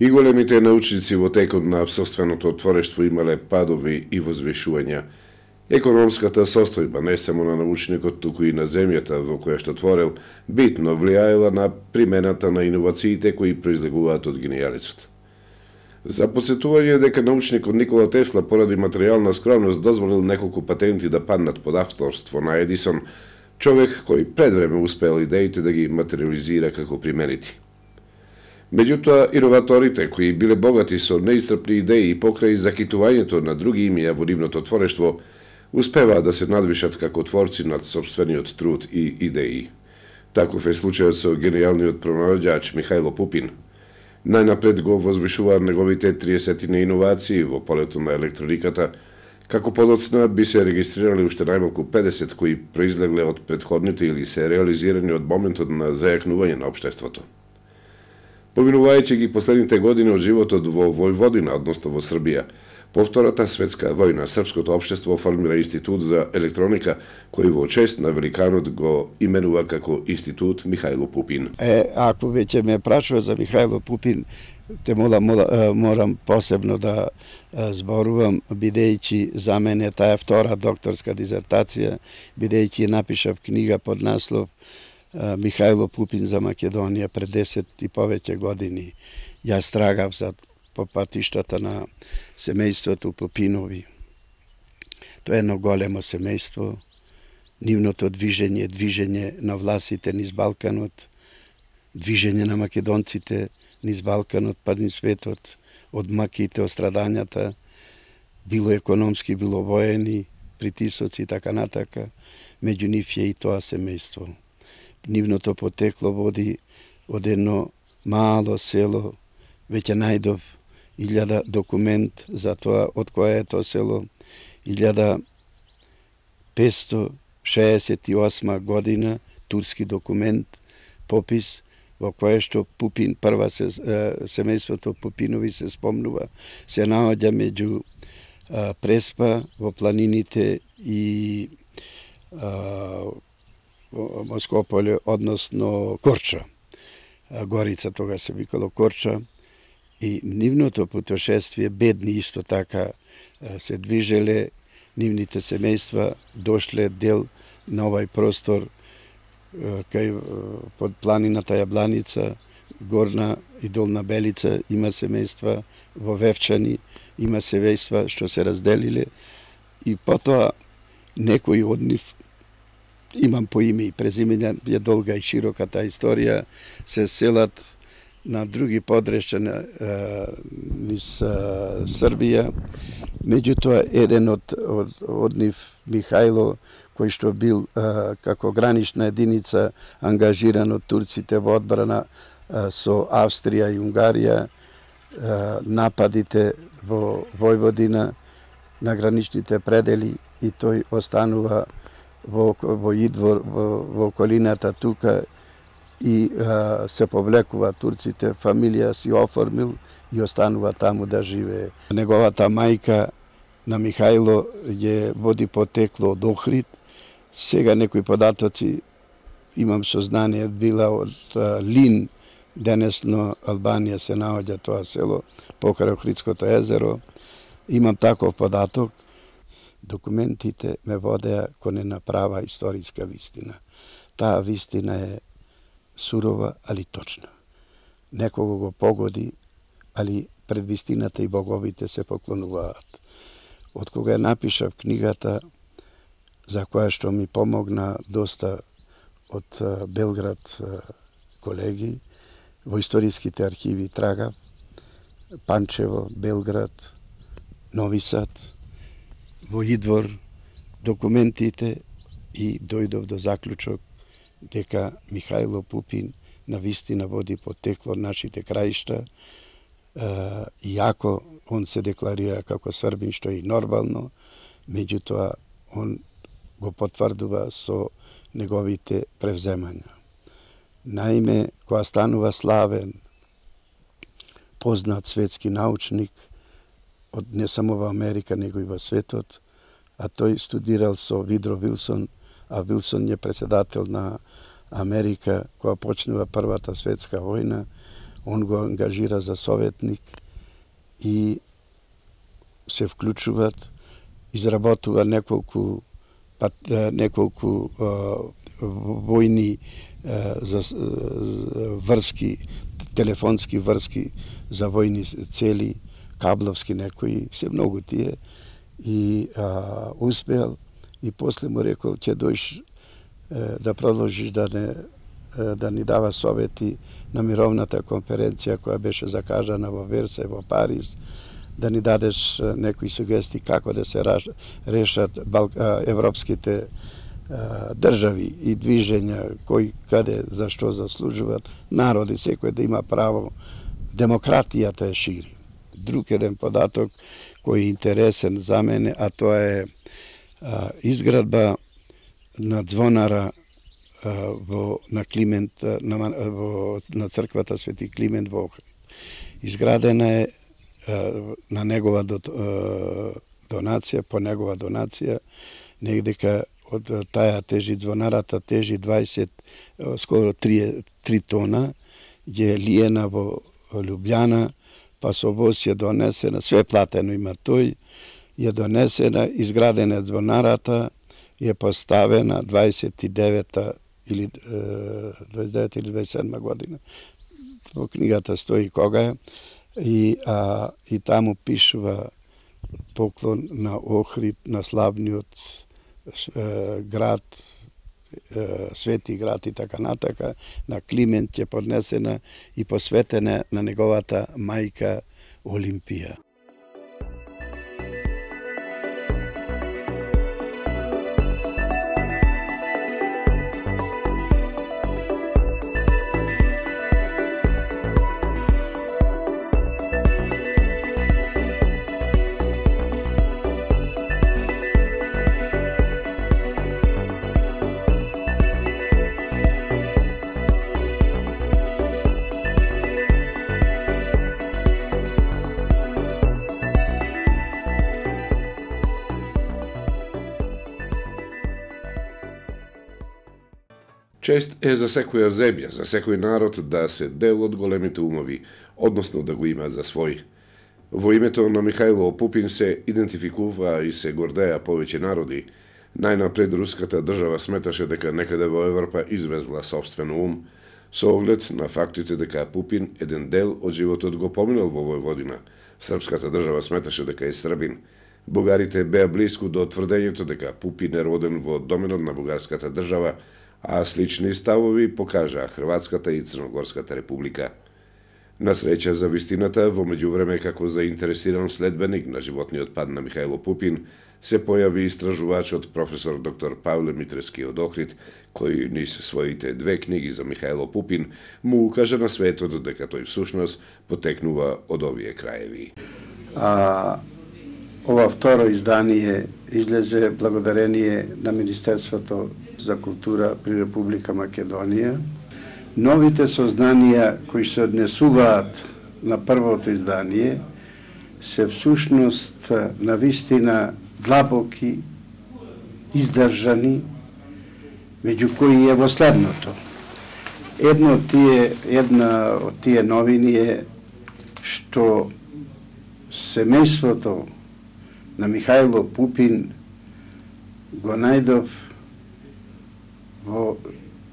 И големите научници во текот на собственото творештво имале падови и возвишувања. Економската состојба не само на научникот, туку и на земјата во која што творел, битно влијаела на примената на иновациите кои произлегуваат од генијалецот. За подсетување дека научникот Никола Тесла поради материјална скромност дозволил неколку патенти да паднат под авторство на Едисон, човек кој пред време успел идеите да ги материализира како применити. Меѓутоа, иноваторите, кои биле богати со неисцрпни идеи и покрај закитувањето на други имија во нивното творештво, успеваат да се надвишат како творци над собствениот труд и идеи. Таков е случајот со генијалниот пронаоѓач Михајло Пупин. Најнапред го возвишуваа неговите 30 иновации во полето на електрониката, како подоцна би се регистрирали уште најмалку 50 кои произлегле од претходните или се реализирани од моментот на зајакнување на општеството. Поминувајќи ги последните години од животот во Војводина, односно во Србија, по Втората светска војна српското општество формира институт за електроника, кој во чест на великанот го именува како Институт Михајло Пупин. Ако веќе ме прашува за Михајло Пупин, те морам посебно да зборувам, бидејќи за мене таа втора докторска дизертација, бидејќи напишав книга под наслов Михајло Пупин за Македонија пред 10 и повеќе години. Јас трагав по патиштата на семејството Пупинови. Тоа е едно големо семејство. Нивното движење на власите низ Балканот, движење на македонците низ Балканот, па низ светот, од маките, од страдањата, било економски, било воени, притисоци и така натака, меѓу нив е и тоа семејство. Нивното потекло води од едно мало село, веќе најдов 1000 документ за тоа од кое е тоа село, 1568 година, турски документ, попис, во кое што Пупин, прва семејството Пупинови се спомнува, се наоѓа меѓу Преспа во планините и Москополе, односно Корча. Горица тога се викало Корча. И нивното путешествие, бедни исто така се движеле, нивните семејства дошле дел на овај простор кај под планината Јабланица, Горна и Долна Белица има семејства, во Вевчани има семејства што се разделиле и потоа некои од нив, имам по име и презиме, е долга и широка таа историја, се селат на други подречја низ Србија. Меѓутоа, еден од нив, Михајло, кој што бил како гранична единица ангажиран од турците во одбрана со Австрија и Унгарија, нападите во Војводина на граничните предели и тој останува во Идвор, во околината тука и се повлекува турците, фамилија си оформил и останува таму да живее. Неговата мајка на Михајло ја води потекло од Охрид. Сега некои податоци имам сознание била од Лин, денесно Албанија се наоѓа тоа село покрај Охридското езеро. Имам таков податок. Документите ме водеа кон една права историска вистина. Таа вистина е сурова, али точна. Некого го погоди, али пред вистината и боговите се поклонуваат. Од кога ја напишав книгата, за која што ми помогна доста од Белград колеги, во историските архиви трагав, Панчево, Белград, Нови Сад, во Идвор, документите и дојдов до заклучок дека Михајло Пупин навистина води потекло од нашите краишта, иако он се декларира како србин, што е и нормално, меѓутоа он го потврдува со неговите превземања. Наиме, кога станува славен, познат светски научник, од не само во Америка, него и во светот, а тој студирал со Видро Вилсон, а Вилсон е председател на Америка, кога почнува Првата светска војна, он го ангажира за советник и се вклучуваат, изработува неколку војни врски, телефонски врски за војни цели, кабловски некои, се многу тие, и успеал, и после му рекол, ќе дојш да продолжиш да ни дава совети на мировната конференција која беше закажана во Версај во Париз, да ни дадеш некои сугести како да се решат европските држави и движења, кој каде за што заслужуваат, народи секој да има право, демократијата е шири. Друг еден податок кој е интересен за мене, а тоа е изградба на звонара на Климент, на црквата Свети Климент во Охрид. Изградена е на негова донација, по негова донација, негдека од таја тежи звонарата, тежи 20, скоро 3 тона, ја е лиена во Лјубљана, па со воз ја донесена, све платено има тој, ја донесена, изградена звонарата, ја поставена 29 или 27 година. Во книгата стои кога е, и таму пишува поклон на Охрид, на славниот град, свети град и така натака, на Климент ќе поднесена и посветена на неговата мајка Олимпија. Чест е за секоја земја, за секој народ да се дел од големите умови, односно да го има за свој. Во името на Михајло Пупин се идентификува и се гордеа повеќе народи. Најнапред руската држава сметаше дека некаде во Европа извезла собствен ум, со оглед на фактите дека Пупин еден дел од животот го поминал во Војводина. Српската држава сметаше дека е србин. Бугарите беа блиску до тврдењето дека Пупин е роден во доменот на бугарската држава, а слични ставови покажаа Хрватската и Црногорската република. На среќа за вистината, во меѓувреме како заинтересиран следбеник на животниот пат на Михајло Пупин, се појави истражувачот професор доктор Павле Митрески од Охрид, кој низ своите 2 книги за Михајло Пупин му укажа на светот дека тој всушност потекнува од овие краеви. Ова второ издание излезе благодарение на Министерството за култура при Република Македонија. Новите сознанија кои се однесуваат на првото издание се всушност навистина длабоки, издржани, меѓу кои е во следното. Една од тие новини е што семејството на Михајло Пупин го најдов во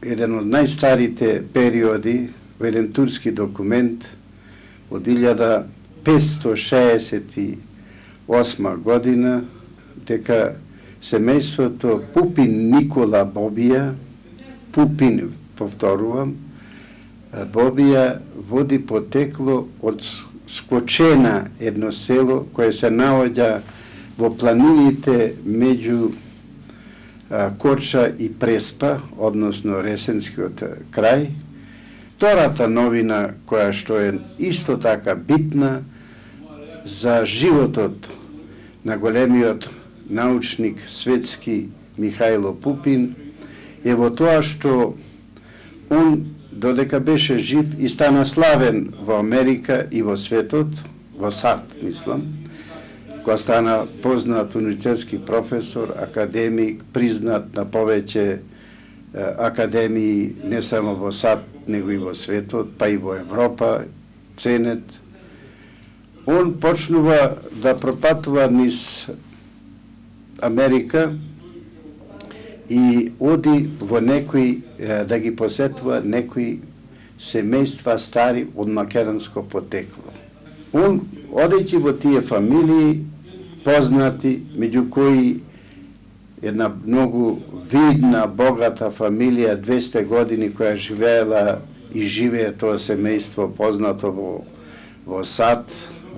еден од најстарите периоди, во еден турски документ од 1568 година, дека семејството Пупин Никола Бобија, Пупин, повторувам, Бобија води потекло од Скочена, едно село кое се наоѓа во планините меѓу Корча и Преспа, односно Ресенскиот крај. Втората новина, која што е исто така битна за животот на големиот научник светски Михајло Пупин, е во тоа што он, додека беше жив и стана славен во Америка и во светот, во САД, мислам, кога стана познат универзитетски професор, академик, признат на повеќе академии не само во САД, него и во светот, па и во Европа, ценет. Он почнува да пропатува низ Америка и оди во некои, да ги посетува некои семејства стари од македонско потекло. Он, одејќи во тие фамилии, познати, меѓу кои една многу видна, богата фамилија, 200 години, која живеела и живее тоа семејство познато во САД,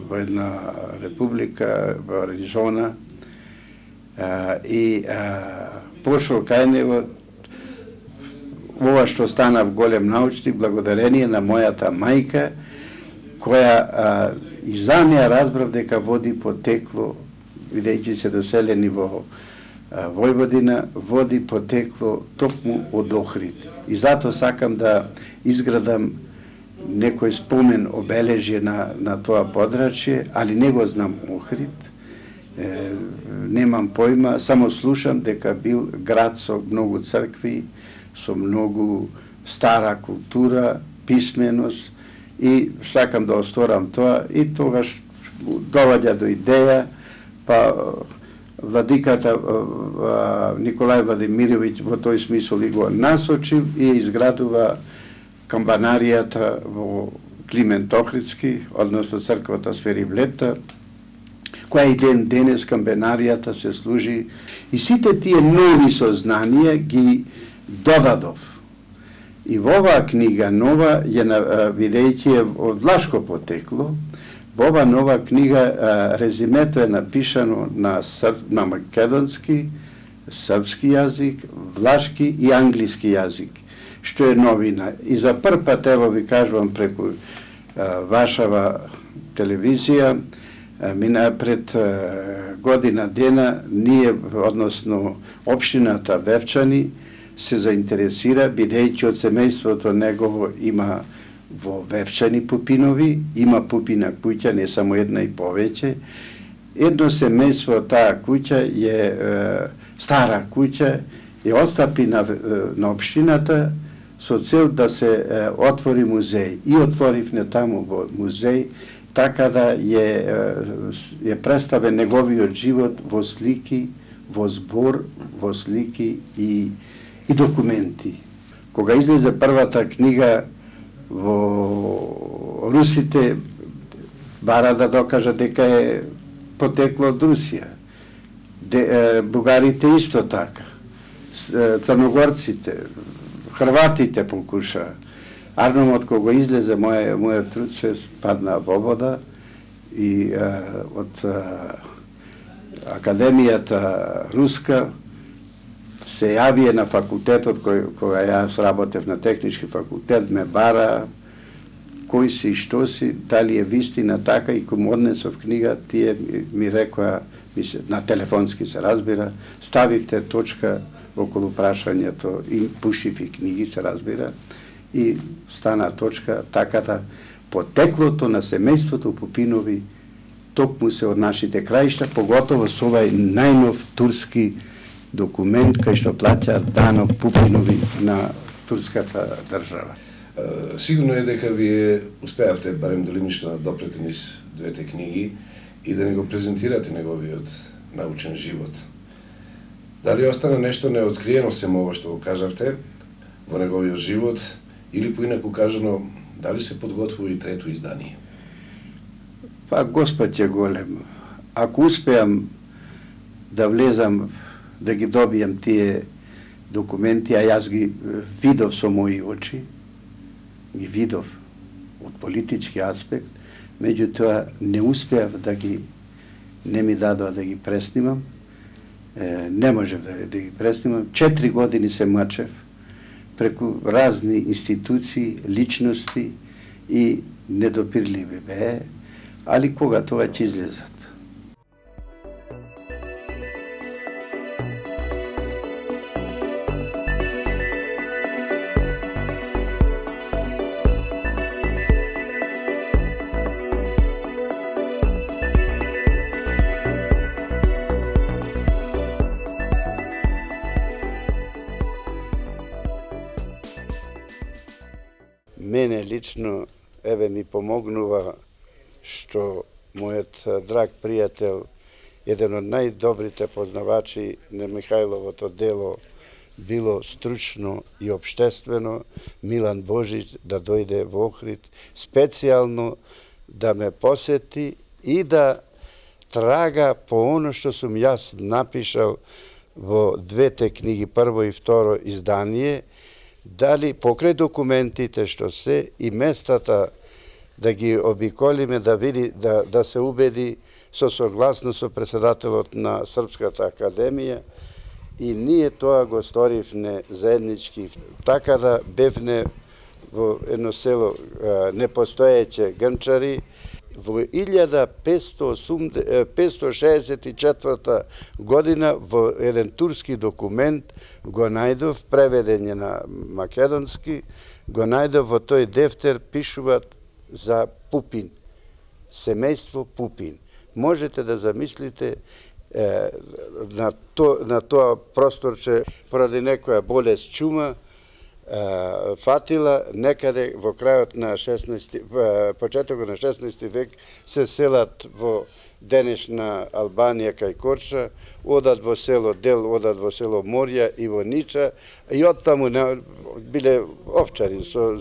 во една република, во Аризона, и пошол кај него. Ова што станав голем научник благодарение на мојата мајка, која и за неа разбрав дека води потекло, бидејќи се доселени во Војводина, води потекло токму од Охрид. И затоа сакам да изградам некој спомен обележје на тоа подрачје, али не го знам Охрид, немам појма, само слушам дека бил град со многу цркви, со многу стара култура, писменост, и сакам да осторам тоа, и тогаш доваѓа до идеја, па владиката Николај Владимировиќ во тој смисол и го насочил и изградува камбанаријата во Климент Охридски, односно црквата Сфери Влепта, која и ден денес камбанаријата се служи. И сите тие нови сознанија ги додадов. И во оваа книга нова, бидејќи е од влашко потекло, во оваа нова книга резимето е напишано на македонски, српски јазик, влашки и англиски јазик, што е новина. И за прв пат, ево ви кажувам преку вашава телевизија, пред година дена, ние, односно општината Вевчани, се заинтересира, бидејќи од семејството негово има во Вевчани пупинови, има пупина куќа, не само една и повеќе. Едно семејство, таа куќа е стара куќа, и отстапи на општината со цел да се отвори музеј. И отворивме таму во музеј, така да е представен неговиот живот во слики, во збор, во слики и документи. Кога излезе првата книга, во русите бара да докажа дека е потекло од Русија. Бугарите исто така. Црногорците, хрватите покуша. Арномот кога излезе мојот труд се падна во вода и од Академијата Руска се јавија на факултетот, кога јас работев на технички факултет, ме бара кој си и што си, дали е вистина така, и кога му однесов книга, тие ми рекоа, на телефонски се разбира, ставивте точка околу прашањето и пуштив и книги, се разбира, и стана точка, така да потеклото на семејството Пупинови токму се од нашите краишта, поготово со овај најнов турски документ кај што плаќа данок Пупинови на турската држава. Сигурно е дека вие успеавте барем делимично да допрете низ двете книги и да ни го презентирате неговиот научен живот. Дали остана нешто неоткриено семо ова што го кажавте во неговиот живот, или поинаку кажано, дали се подготвува и трето издание? Па Господ е голем. Ако успеам да влезам, да ги добијам тие документи, а јас ги видов со мои очи, ги видов од политички аспект, меѓутоа не успеав не ми дадоа да ги преснимам, не можев да ги преснимам. 4 години се мачев преку разни институции, личности и недопирливи бе, али кога тоа ќе излезат. Мене лично, ми помогнува што мојот драг пријател, еден од најдобрите познавачи на Михајловото дело, било стручно и обштествено, Милан Божич, да дојде во Охрид, специјално да ме посети и да трага по оно што сум јас напишал во двете книги, прво и второ издание, дали покрај документите што се и местата да ги обиколиме, да види, да се убеди со согласност со председателот на Српската академија, и ние тоа го сторивме заеднички. Така да бевне во едно село непостоеće Грнчари, во 1564 година во еден турски документ го најдов, преведен на македонски, го најдов во тој дефтер, пишуваат за Пупин, семејство Пупин. Можете да замислите на тоа просторче, поради некоја болест чума, фатила, некаде во крајот на почетокот на 16 век се селат во денешна Албанија кај Корча, одат во село Дел, одат во село Морја и во Нича, и оттаму биле овчари, со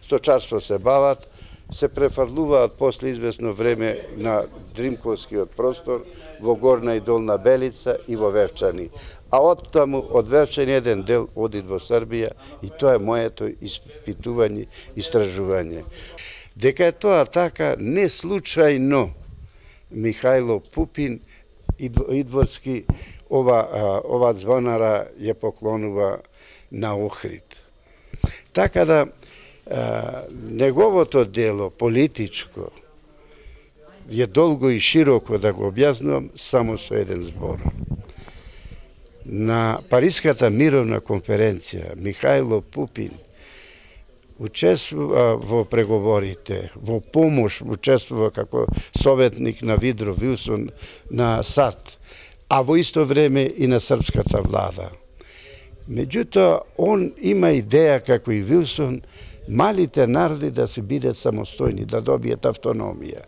сточарство се бават, се префрлуваат после известно време на Дримковскиот простор, во Горна и Долна Белица и во Вевчани. А оттаму од Вевчани еден дел оди во Србија, и тоа е моето испитување, истражување. Дека е тоа така, не случајно Михајло Пупин Идворски ова звонара ја поклонува на Охрид. Така да неговото дело политичко е долго и широко да го објаснувам само со еден збор. На Париската мировна конференција Михајло Пупин учествува во преговорите, во помош учествува како советник на Вудро Вилсон на САД, а во исто време и на српската влада. Меѓутоа, он има идеја, како и Вилсон, малите народи да се бидат самостојни, да добијат автономија.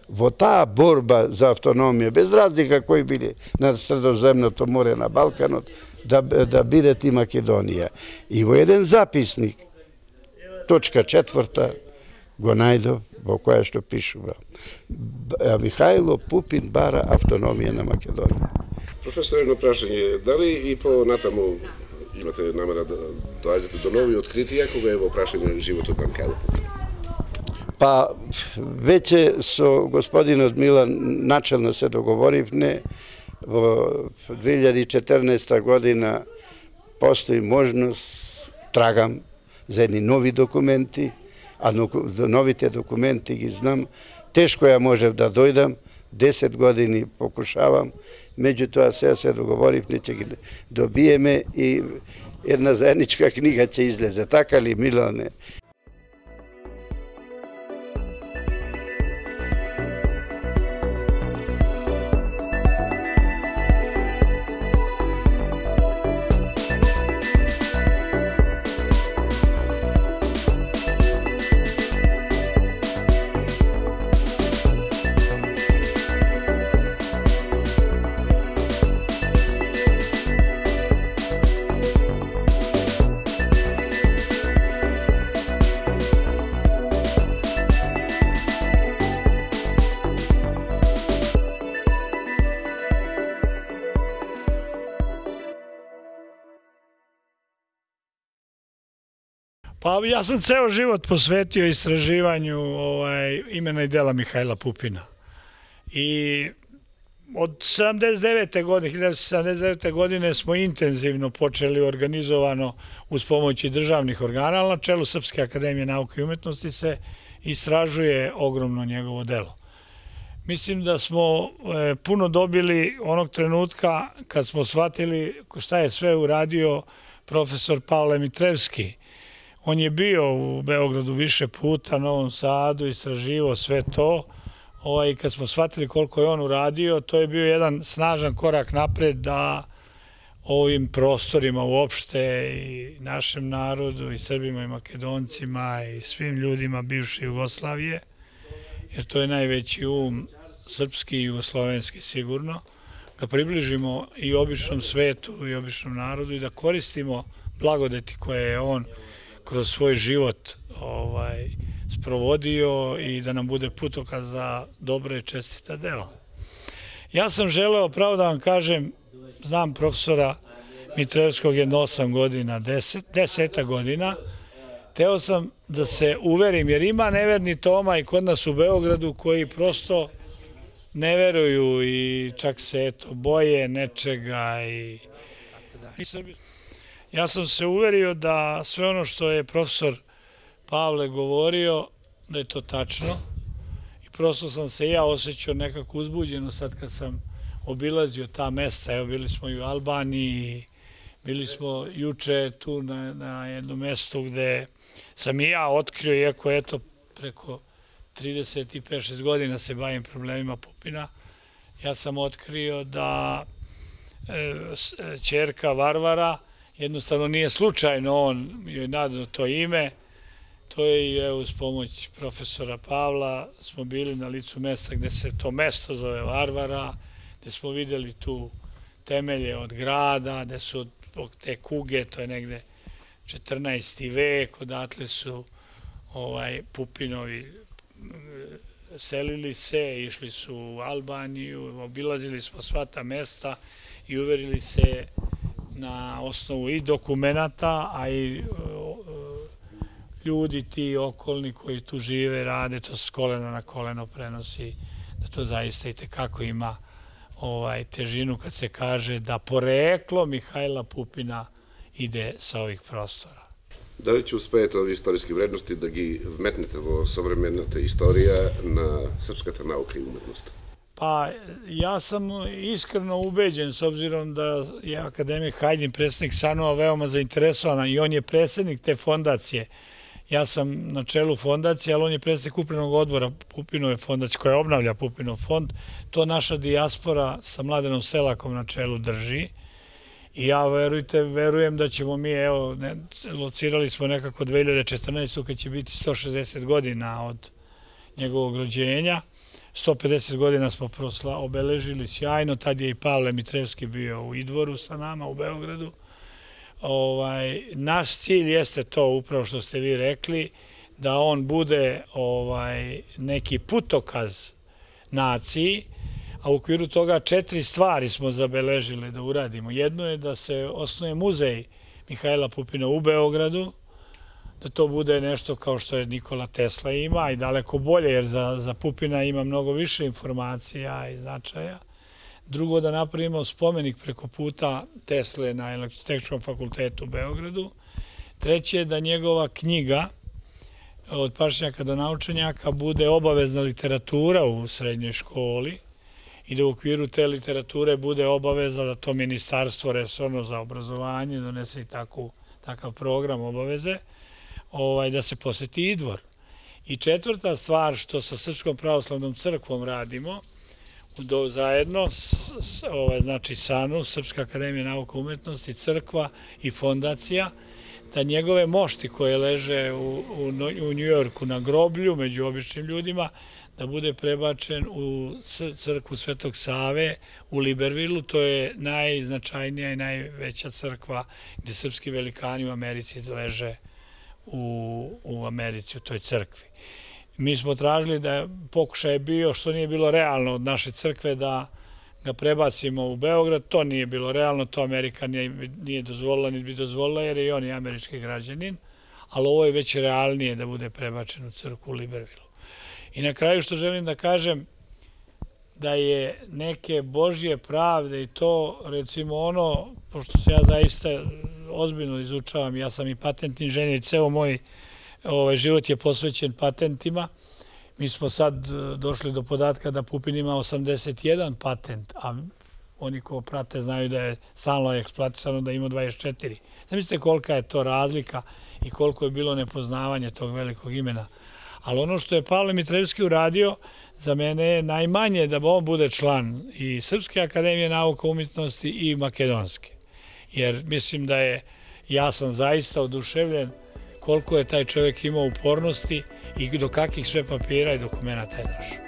Во таа борба за автономија, без разлика кои биле на Средоземното море, на Балканот, да бидат и Македонија. И во еден записник, точка 4, го најдов, во која што пишува: Михајло Пупин бара автономија на Македонија. Професор, едно прашање, дали и понатаму имате намера да доаѓате до нови откритија кога е во прашање животот на Михајло Пупин? Па, веќе со господинот Милан начелно се договоривме. Во 2014 година постои можност, трагам за едни нови документи, а новите документи ги знам. Тешко ја можев да дојдам, 10 години покушавам, меѓутоа сега се договоривме, ќе ги добиеме и една заедничка книга ќе излезе. Така ли, Милане? Pa ja sam ceo život posvetio istraživanju imena i dela Mihajla Pupina. I od 1979. godine smo intenzivno počeli organizovano uz pomoći državnih organa, ali na čelu Srpske akademije nauke i umetnosti se istražuje ogromno njegovo delo. Mislim da smo puno dobili onog trenutka kad smo shvatili šta je sve uradio profesor Pavle Mitrevski. On je bio u Beogradu više puta, Novom Sadu, istraživao sve to. Kad smo shvatili koliko je on uradio, to je bio jedan snažan korak napred da ovim prostorima uopšte i našem narodu i Srbima i Makedoncima i svim ljudima bivše Jugoslavije, jer to je najveći srpski i jugoslovenski sigurno, da približimo i običnom svetu i običnom narodu i da koristimo blagodeti koje je on kroz svoj život sprovodio i da nam bude putokaz za dobre i čestita dela. Ja sam želeo, pravo da vam kažem, znam profesora Mitrevskog jedno 8 godina, 10 godina, teo sam da se uverim, jer ima neverni Toma i kod nas u Beogradu koji prosto ne veruju i čak se boje nečega. Ja sam se uverio da sve ono što je profesor Pavle govorio, da je to tačno i prosto sam se ja osjećao nekako uzbuđeno sad kad sam obilazio ta mesta. Evo, bili smo i u Albaniji, bili smo juče tu na jednom mestu gde sam i ja otkrio, iako eto preko 35-6 godina se bavim problemima Pupina, ja sam otkrio da ćerka Varvara, jednostavno nije slučajno on joj nadao to ime, to je i uz pomoć profesora Pavla smo bili na licu mesta gde se to mesto zove Varvara, gde smo videli tu temelje od grada, gde su te kuge, to je negde 14. vek, odatle su Pupinovi selili se, išli su u Albaniju, obilazili smo sva ta mesta i uverili se na osnovu i dokumenata, a i ljudi ti okolni koji tu žive, rade, to s kolena na koleno prenosi, da to zaista i tekako ima težinu kad se kaže da poreklo Mihajla Pupina ide sa ovih prostora. Da li će uspejete ovi istorijski vrednosti da gi vmetnete vo sovremenata istorija na srpskata nauka i umetnost? Pa ja sam iskreno ubeđen, s obzirom da je akademik Hajdin, predsjednik SANU-a, veoma zainteresovan i on je predsjednik te fondacije. Ja sam na čelu fondacije, ali on je predsjednik upravnog odbora Pupinove fondacije koja obnavlja Pupinov fond. To naša dijaspora sa Mladenom Selakom na čelu drži. I ja, verujem da ćemo mi, evo, locirali smo nekako 2014. kad će biti 160 godina od njegovog rođenja. 150 godina smo obeležili sjajno, tad je i Pavle Mitrevski bio u Idvoru sa nama u Beogradu. Naš cilj jeste to, upravo što ste vi rekli, da on bude neki putokaz naciji, a u okviru toga 4 stvari smo zabeležili da uradimo. Jedno je da se osnuje muzej Mihajla Pupina u Beogradu, da to bude nešto kao što je Nikola Tesla ima i daleko bolje, jer za Pupina ima mnogo više informacija i značaja. Drugo, da napravimo spomenik preko puta Tesle na Elektrotehničkom fakultetu u Beogradu. Treće, da njegova knjiga od pašnjaka do naučenjaka bude obavezna literatura u srednjoj školi i da u okviru te literature bude obaveza da to ministarstvo resorno za obrazovanje donese i takav program obaveze, da se poseti Idvor. I četvrta stvar što sa Srpskom pravoslavnom crkvom radimo, zajedno, znači SANU, Srpska akademija nauka i umetnosti, crkva i fondacija, da njegove mošti koje leže u Njujorku na groblju među običnim ljudima, da bude prebačen u crkvu Svetog Save u Libervilu. To je najznačajnija i najveća crkva gde srpski velikani u Americi leže u Americi, u toj crkvi. Mi smo tražili da pokušaj je bio, što nije bilo realno od naše crkve, da ga prebacimo u Beograd. To nije bilo realno, to Amerika nije dozvolila, niti bi dozvolila, jer je on i američki građanin, ali ovo je već realnije da bude prebačen u crkvu u Libervilu. I na kraju što želim da kažem, da je neke Božje pravde i to, recimo ono, pošto se ja zaista ozbiljno izučavam, ja sam i patent inženjer, ceo moj život je posvećen patentima. Mi smo sad došli do podatka da Pupin ima 81 patent, a oni ko prate znaju da je stalno eksploatisano da ima 24. Zamislite kolika je to razlika i koliko je bilo nepoznavanje tog velikog imena. Ali ono što je Pavle Mitrevski uradio, za mene je najmanje da on bude član i Srpske akademije nauka i umetnosti i Makedonske. jer mislim da ja sam zaista oduševljen koliko je taj čovjek imao upornosti i do kakvih sve papira i dokumenta je došao.